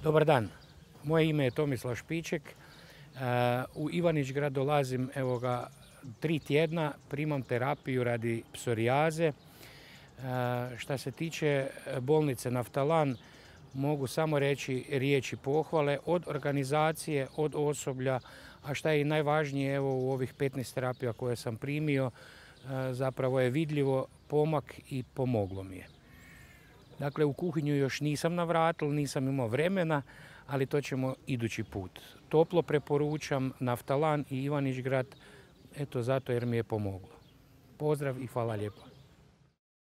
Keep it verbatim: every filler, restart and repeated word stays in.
Dobar dan, moje ime je Tomislav Špiček. U Ivanić-Grad dolazim evo ga tri tjedna, primam terapiju radi psorijaze. Šta se tiče bolnice Naftalan, mogu samo reći riječi pohvale od organizacije, od osoblja, a šta je i najvažnije evo u ovih petnaest terapija koje sam primio, zapravo je vidljivo pomak i pomoglo mi je. Dakle, u kuhinju još nisam navratil, nisam imao vremena, ali to ćemo idući put. Toplo preporučam Naftalan i Ivanić-Grad, eto zato jer mi je pomoglo. Pozdrav i hvala lijepo.